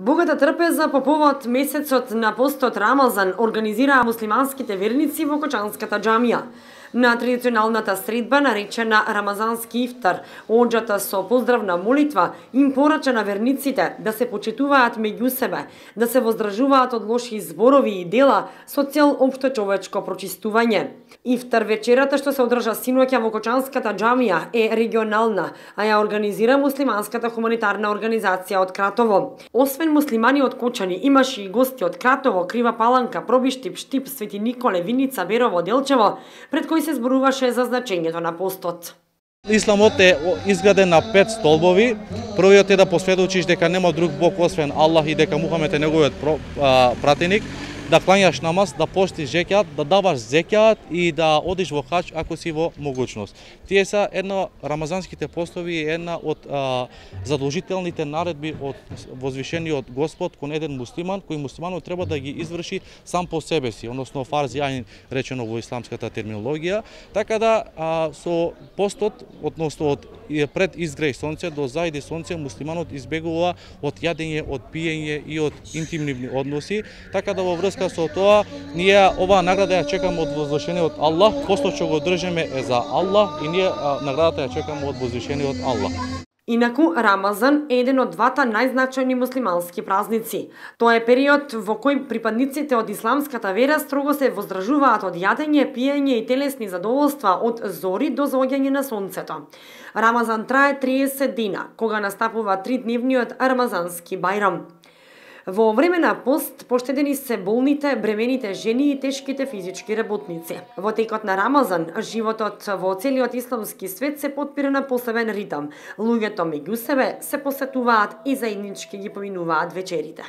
Богата трпеза по повод месецот на постот Рамазан организираа муслиманските верници во Кочанската џамија. На традиционалната средба, наречена Рамазански ифтар, оѓата со поздравна молитва им порача на верниците да се почитуваат меѓу себе, да се воздржуваат од лоши зборови и дела со цел општо човечко прочистување. Ифтар вечерата што се одржа синоќа во Кочанската џамија е регионална, а ја организира муслиманската хуманитарна организација од Кратово. Освен муслимани од Кочани, имаше и гости од Кратово, Крива Паланка, Пробиштип, Штип, Свети Николе, Виница, Берово, Делчево, пред кои се зборуваше за значењето на постот. Исламот е изграден на 5 столбови. Првиот е да посведочиш дека нема друг Бог освен Аллах и дека Мухамед е неговиот пратеник, да клањаш намаз, да постиш зекјат, да даваш зекјат и да одиш во хаџ ако си во могучност. Тие се рамазанските постови е една од задолжителните наредби од возвишениот Господ кон еден муслиман, кој муслиманот треба да ги изврши сам по себе си, односно фарз јаин речено во исламската терминологија. Така да со постот, односно од пред изгреј сонце до зајди сонце, муслиманот избегува од јадење, од пиење и од интимни односи. Така да во врска со тоа, ние оваа награда ја чекаме од возвишениот Аллах, постот што го држиме е за Аллах и ние наградата ја чекаме од возвишениот Аллах. Инаку, Рамазан е еден од двата најзначајни муслимански празници. Тоа е период во кој припадниците од исламската вера строго се воздржуваат од јадење, пиење и телесни задоволства од зори до заоѓање на сонцето. Рамазан трае 30 дена, кога настапува 3-дневниот Рамазански бајрам. Во време на пост поштедени се болните, бремените жени и тешките физички работници. Во текот на Рамазан, животот во целиот исламски свет се потпира на посебен ритам. Луѓето меѓу себе се посетуваат и заеднички ги поминуваат вечерите.